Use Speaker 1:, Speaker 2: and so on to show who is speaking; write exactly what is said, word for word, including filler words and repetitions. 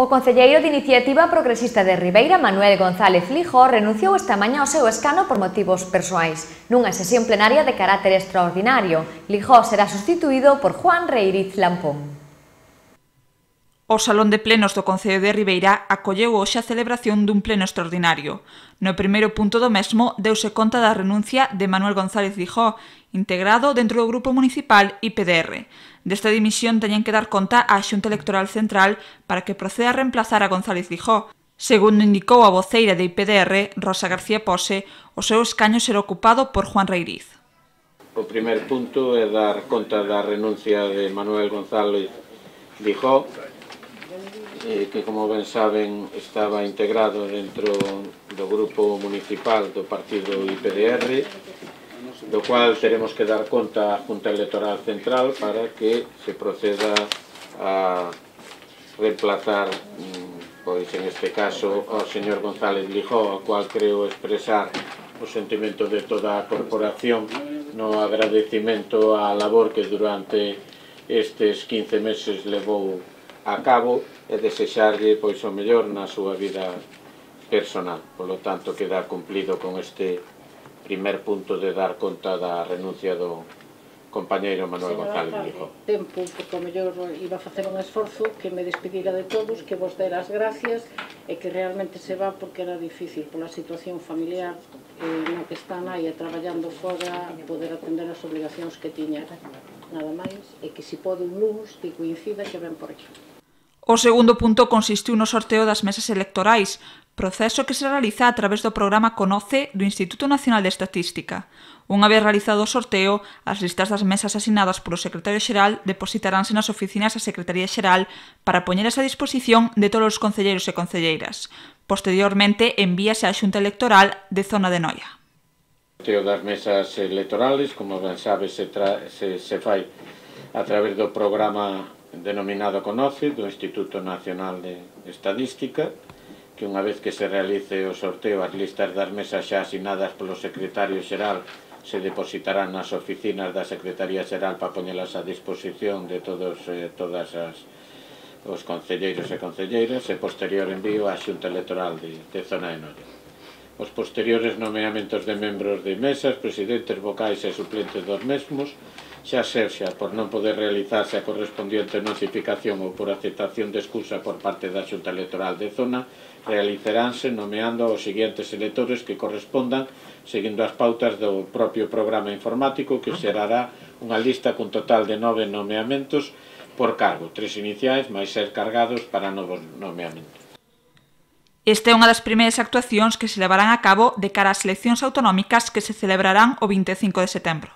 Speaker 1: O concelleiro de Iniciativa Progresista de Ribeira, Manuel González Lijó, renunciou esta mañá ao seu escano por motivos persoais. Nunha sesión plenaria de carácter extraordinario, Lijó será sustituído por Juan Reiriz Lampón.
Speaker 2: O Salón de Plenos do Concello de Ribeira acolleu hoxe a celebración dun pleno extraordinario. No primeiro punto do mesmo deuse conta da renuncia de Manuel González Lijó, integrado dentro do Grupo Municipal I P D R. Desta dimisión teñen que dar conta á Xunta Electoral Central para que proceda a reemplazar a González Lijó. Segundo indicou a voceira de I P D R, Rosa García Pose, o seu escaño será ocupado por Juan Reiriz.
Speaker 3: O primer punto é dar conta da renuncia de Manuel González Lijó, que, como ben saben, estaba integrado dentro do grupo municipal do partido I P D R, do cual teremos que dar conta á Junta Electoral Central para que se proceda a reemplazar, pois en este caso, ao señor González Lijó, ao cual creo expresar o sentimento de toda a corporación no agradecimento á labor que durante estes quince meses levou a cabo e desexarlle pois o mellor na súa vida personal. Por lo tanto, queda cumplido con este primer punto de dar conta da renuncia do compañeiro Manuel González Lijó.
Speaker 4: Tempo, porque o mellor iba a facer un esforzo, que me despedira de todos, que vos dera as gracias e que realmente se va porque era difícil pola situación familiar no que está a naia traballando fora, poder atender as obligacións que tiña. Nada máis, e que se pode un luns que coincida que ven por aquí.
Speaker 2: O segundo punto consistiu no sorteo das mesas electorais, proceso que se realiza a través do programa Conoce do Instituto Nacional de Estatística. Unha vez realizado o sorteo, as listas das mesas asinadas polo secretario xeral depositaránse nas oficinas da Secretaría Xeral para poñelas a disposición de todos os concelleiros e concelleiras. Posteriormente, envíase á Xunta Electoral de Zona de Noia.
Speaker 3: O sorteo das mesas electorales, como ben sabe, se, se, se fai a través do programa denominado Conoce, do Instituto Nacional de Estadística, que unha vez que se realice o sorteo, as listas das mesas xa asinadas polo secretario xeral se depositarán nas oficinas da Secretaría Xeral para poñelas a disposición de todos eh, todas as os concelleiros e concelleiras e posterior envío á Xunta Electoral de, de Zona de Noia. Os posteriores nomeamentos de membros de mesas, presidentes, vocais e suplentes dos mesmos, xa sexa por non poder realizarse a correspondiente notificación ou por aceptación de excusa por parte da Xunta Electoral de Zona, realizaránse nomeando aos seguintes electores que correspondan seguindo as pautas do propio programa informático, que xerará unha lista cun total de nove nomeamentos por cargo, tres iniciais máis ser cargados para novos nomeamentos.
Speaker 2: Esta é unha das primeiras actuacións que se levarán a cabo de cara ás eleccións autonómicas que se celebrarán o vinte e cinco de setembro.